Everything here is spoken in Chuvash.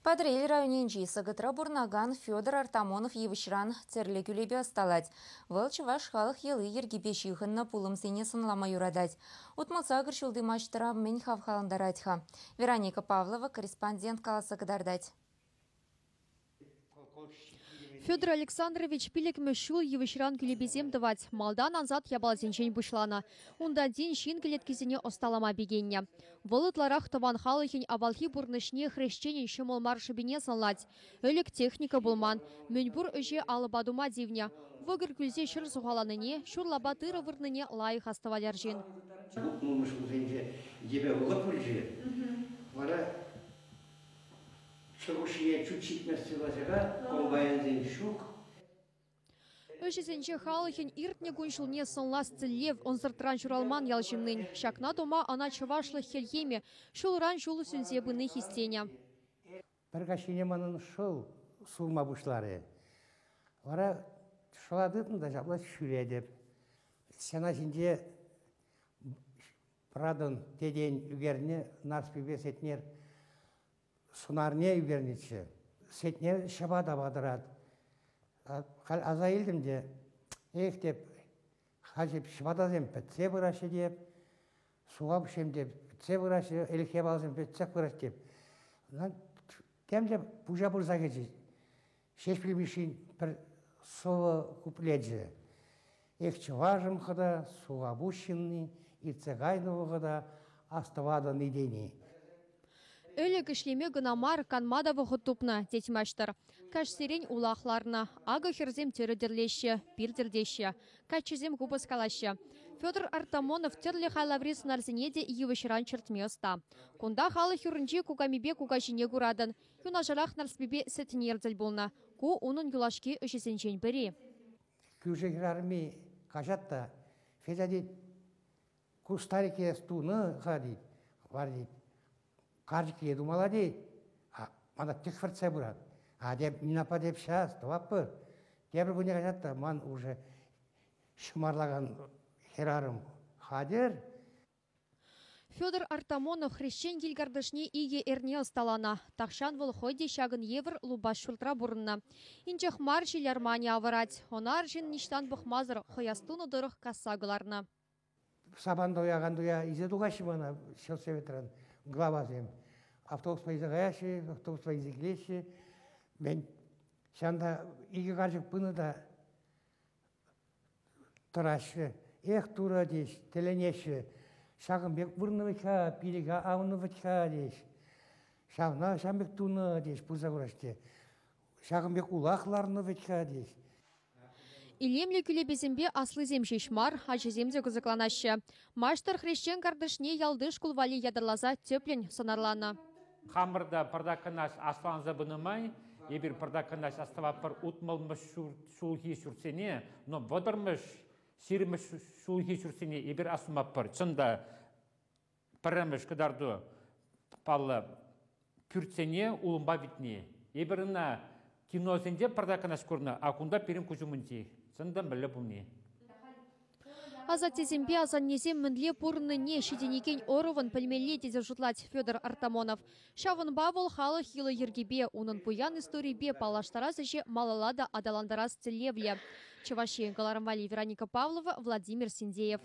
Патӑрьел районӗнчи Сӑкӑтра пурӑнакан Федор Артамонов йывӑҫран тӗрлӗ кӳлепе ӑсталать. Вӑл чӑваш халӑх йӑли-йӗркипе ҫыхӑннӑ пулӑмсене сӑнлама юратать. 68 ҫулти маҫтӑра мӗн хавхалантарать-ха? Вероника Павлова корреспондент каласа кӑтартать. Федор Александрович пиллӗкмӗш ҫул йывӑҫран кӳлепесем тӑвать. Малтан ансат япаласенчен пуҫланӑ. Унтан тин ҫын кӗлеткисене ӑсталама пикеннӗ. Вӑл ытларах тӑван халӑхӗн авалхи пурнӑҫне хресченӗн ҫӑмӑл мар шӑпине сӑнлать. Ӗлӗк техника пулман. Мӗнпур ӗҫе алӑпа тума тивнӗ. Вӑкӑр кӳлсе ҫӗр сухаланине, ҫурлапа тырӑ вырнине лайӑх астӑвать арҫын. 60-мӗш ҫулсенче йӗпе вӑхӑт пулчӗ. Вара Шӑрушшине чут ҫитмест сывласера комбайнсен ҫук. Ӗҫӗсенче халӑхӗн иртнӗ кун-ҫулне сӑнлас тӗллев ӑнсӑртран ҫуралман ял ҫыннин. Ҫакна тума ӑна чӑвашлӑх хӗлхемӗ ҫулран ҫул сӳнсе пыни хистенӗ. Пӗр каҫхине манӑн шӑл сурма пуҫларӗ. Вара шӑла тытнӑ та ҫапла ҫӳретӗп. Стена ҫинче Пӑратӑн тетен ӳкернӗ Нарспипе Сетнер сӑнарне ӳкернӗччӗ. Сетнер ҫӑпата патӑрать. Халь аса илтӗм те, эх теп, халь ҫӑпатасем пӗтсе пыраҫҫӗ теп, суха пуҫсем те пӗтсе пыраҫҫӗ, ӗлӗкхи япаласем пӗтсех пыраҫҫӗ теп. Тем те пуҫа пырса кӗчӗ. Ҫеҫпӗл Мишшин пӗр сӑвӑ куплечӗ. Эх, чӑвашӑм хӑта, сухапуҫ ҫынни, иртсе кайнӑ вӑхӑта астӑватӑн-и тени. Ӗлӗк ӗҫлеме кӑна мар, канма та вӑхӑт тупнӑ, тет маҫтӑр. Каҫсерен улах ларнӑ. Акӑ хӗрсем тӗрӗ тӗрлеҫҫӗ, пир тӗртеҫҫӗ. Каччӑсем купӑс калаҫҫӗ. Федор Артамонов тӗрлӗ хайлаври сӑнарсене те йывӑҫран чӗртме ӑста. Кунта халӑх юрринчи кукамипе кукаҫине куратӑн. Юнашарах Нарспипе Сетнер тӗл пулнӑ. Ку унӑн юлашки ӗҫӗсенчен пӗри. Кӳршӗ хӗрарӑмми каҫать та, Федя тет, ку старике эс тунӑ-ха тет, вар тет, карчӑкне тумалла тет, а мана тӗк пырать. А теп, Нина аппа теп, ҫас, тӑватпӑр. Тепӗр кунне каҫать та ман уже ҫӑмарлакан хӗрарӑм хатӗр. Федор Артамонов хресчен кил картишне икӗ эрне ӑсталанӑ. Тахҫан вӑл хӑй те ҫакӑн евӗр лупас ҫуртра пурӑннӑ. Инҫех мар ҫил арманӗ авӑрать. Ӑна арҫын ниҫтан пӑхмасӑр хӑяс тунӑ тӑрӑх касса кӑларнӑ. Сапан туякан туя илсе тухаҫҫӗ мана ҫӗлсоветран главасем. Автобуспа илсе каяҫҫӗ, автобуспа илсе килеҫҫӗ. Мен ҫавӑнта икӗ карчӑк пынӑ та тӑраҫҫӗ. Эх, Турӑ, теҫ, тӗлӗнеҫҫӗ. Ҫакӑн пек вырнӑ вӗт-ха, пилӗке авнӑ вӗт-ха, теҫ. Ҫавна ҫавӑн пек тунӑ, теҫ, пырса кураҫ те. Ҫакӑн пек улах ларнӑ вӗт-ха, теҫ. Илемлӗ кӳлепесемпе аслисем ҫеҫ мар, ачасем те кӑсӑкланаҫҫӗ. Маҫтӑр хресчен картишне ялти шкул валли ятарласа тӗплӗн сӑнарланӑ. Хамӑр та пӑртак кӑна асланса пынӑ май, эпир пӑртак кӑна астӑватпӑр 60-мӗш ҫулхи ҫуртсене, но 30-мӗш, 20-мӗш ҫулхи ҫуртсене эпир астуматпӑр. Чӑн та, пӗрремӗш кӑтарту паллӑ, пӳртсене улӑмпа витни. Эпир ӑна киносенче пӑртак кӑна курнӑ, а кунта пирӗн куҫ умӗнчи. Чӑн та мӗнле пулни. Асаттесемпе асаннесем мӗнле пурӑннине ҫитӗнекен ӑрӑвӑн пӗлмелле тесе шутлать Федор Артамонов. Ҫавӑнпа вӑл халӑх йӑли-йӗркипе, унӑн пуян историйӗпе паллаштарас ӗҫе малалла та аталантарас тӗллевлӗ. Чӑваш Ен кӑларӑм валли Вероника Павлова, Владимир Синдеев.